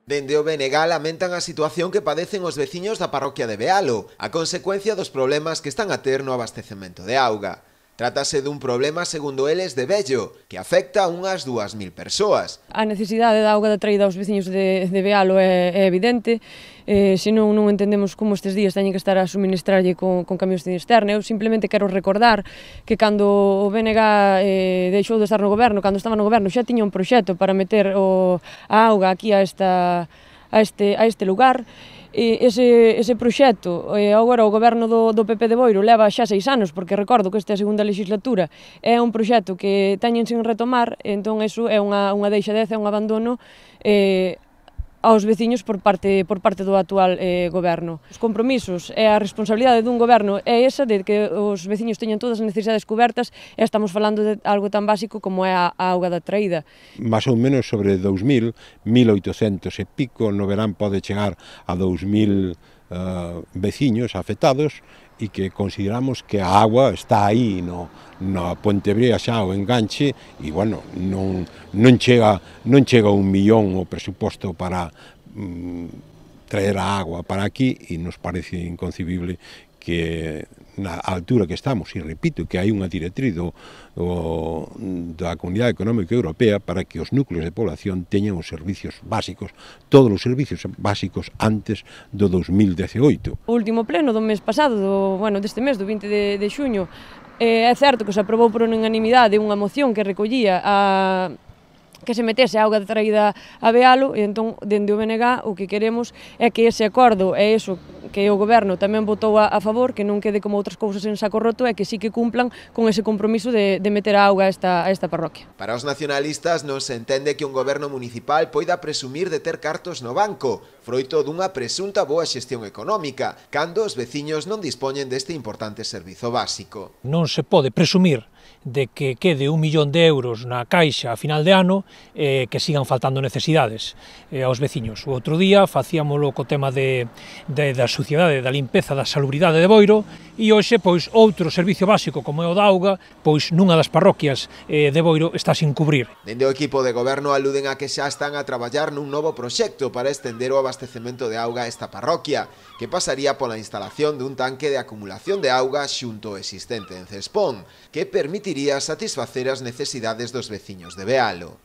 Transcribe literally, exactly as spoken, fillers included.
Dende o B N G lamentan a situación que padecen os veciños da parroquia de Bealo, a consecuencia dos problemas que están a ter no abastecemento de auga. Trátase dun problema, segundo eles, de vello, que afecta a unhas dúas mil persoas. A necesidade da auga da traída aos veciños de, de Bealo é, é evidente, eh, senón non entendemos como estes días teñen que estar a suministrarlle con, con camións de cisterna. Eu simplemente quero recordar que cando o B N G eh, deixou de estar no goberno, cando estaba no goberno, xa tiña un proxecto para meter o, a auga aquí a, esta, a, este, a este lugar. E ese, ese proxecto, eh, agora o goberno do, do P P de Boiro leva xa seis anos, porque recordo que esta é a segunda legislatura, é un proxecto que teñen sin retomar, entón iso é unha, unha deixadeza, é un abandono eh, aos veciños por parte, por parte do actual eh, goberno. Os compromisos e a responsabilidade dun goberno é esa, de que os veciños teñan todas as necesidades cobertas, e estamos falando de algo tan básico como é a, a auga da traída. Más ou menos sobre dous mil, mil oitocentos e pico, no verán pode chegar a dous mil uh, veciños afectados, e que consideramos que a agua está aí no, na Pontebrea xa o enganche, e bueno, non, non chega non chega un millón o presuposto para mm, traer a agua para aquí, e nos parece inconcebible que na altura que estamos, e repito que hai unha directriz do, do, da Comunidade Económica Europea para que os núcleos de población teñan os servicios básicos, todos os servicios básicos antes do dos mil diecioito. O último pleno do mes pasado, do, bueno, deste mes, do vinte de, de xuño, eh, é certo que se aprobou por unanimidade unha moción que recollía a que se metese a auga traída a Bealo, e entón, dende o B N G, o que queremos é que ese acordo, é iso que o goberno tamén votou a, a favor, que non quede como outras cousas en saco roto, e que sí que cumplan con ese compromiso de, de meter a auga a esta, a esta parroquia. Para os nacionalistas non se entende que un goberno municipal poida presumir de ter cartos no banco, froito dunha presunta boa xestión económica, cando os veciños non dispoñen deste importante servizo básico. Non se pode presumir de que quede un millón de euros na caixa a final de ano, eh, que sigan faltando necesidades eh, aos veciños. O outro día facíamolo co tema de, de, da suciedade, da limpeza, da salubridade de Boiro, e hoxe, pois, outro servicio básico como é o da auga, pois nunha das parroquias eh, de Boiro está sin cubrir. Dende o equipo de goberno aluden a que xa están a traballar nun novo proxecto para estender o abastecemento de auga a esta parroquia, que pasaría pola instalación dun tanque de acumulación de auga xunto ao existente en Cespón, que permitiría satisfacer as necesidades dos veciños de Bealo.